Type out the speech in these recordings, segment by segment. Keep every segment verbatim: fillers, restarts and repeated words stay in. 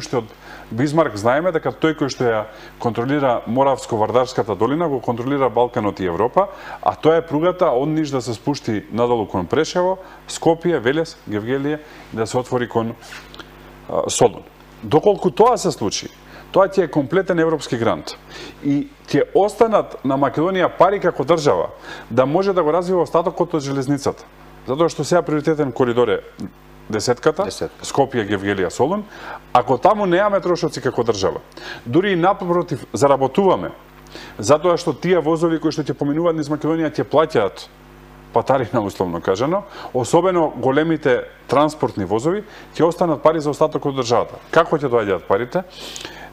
Што од Бисмарк знаеме дека тој кој што ја контролира Моравско-Вардарската долина го контролира Балканот и Европа, а тоа е пругата од Ниш да се спушти надолу кон Прешево, Скопје, Велес, Гевгелие и да се отвори кон а, Солун. Доколку тоа се случи, тоа ќе е комплетен европски грант и ќе останат на Македонија пари како држава да може да го развива остатокот од железницата. Затоа што сега приоритетен коридор е десетката, Десетка. Скопје, Гевгелија, Солун, ако таму неаме трошоци како држава, дури и напротив заработуваме, затоа што тие возови кои што ќе поминуваат низ Македонија ќе плаќаат патарина, условно кажано, особено големите транспортни возови, ќе останат пари за остатокот од државата. Како ќе доаѓаат парите?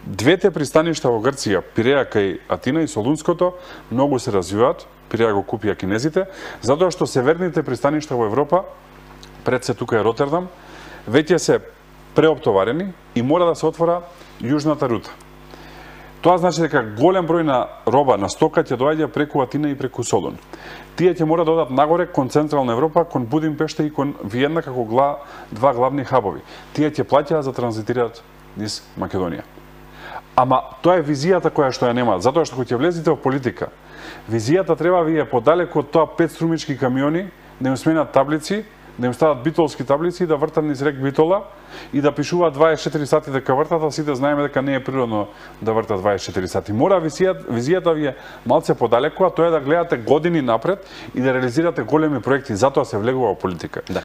Двете пристаништа во Грција, Пиреа кај Атина и Солунското, многу се развиваат, Пиреа го купија кинезите, затоа што северните пристаништа во Европа, пред се тука е Ротердам, веќе се преоптоварени и мора да се отвора јужната рута. Тоа значи дека голем број на роба, на стока ќе доаѓа преку Атина и преку Солун. Тие ќе мора да одат нагоре кон Централна Европа, кон Будимпешта и кон Виена како гла, два главни хабови. Тие ќе плаќаат за транзитираат низ Македонија. Ама тоа е визијата која што ја нема, затоа што кога ќе влезете во политика, визијата треба ви е подалеку од тоа пет струмички камиони, да им сменат таблици, да им стават битолски таблици и да вртат низ рек Битола и да пишуваат дваесет и четири сати дека вртат, а сите знаеме дека не е природно да вртат дваесет и четири сати. Мора визијата, визијата ви е малце подалеку, а тоа е да гледате години напред и да реализирате големи проекти, затоа се влегува во политика. Да.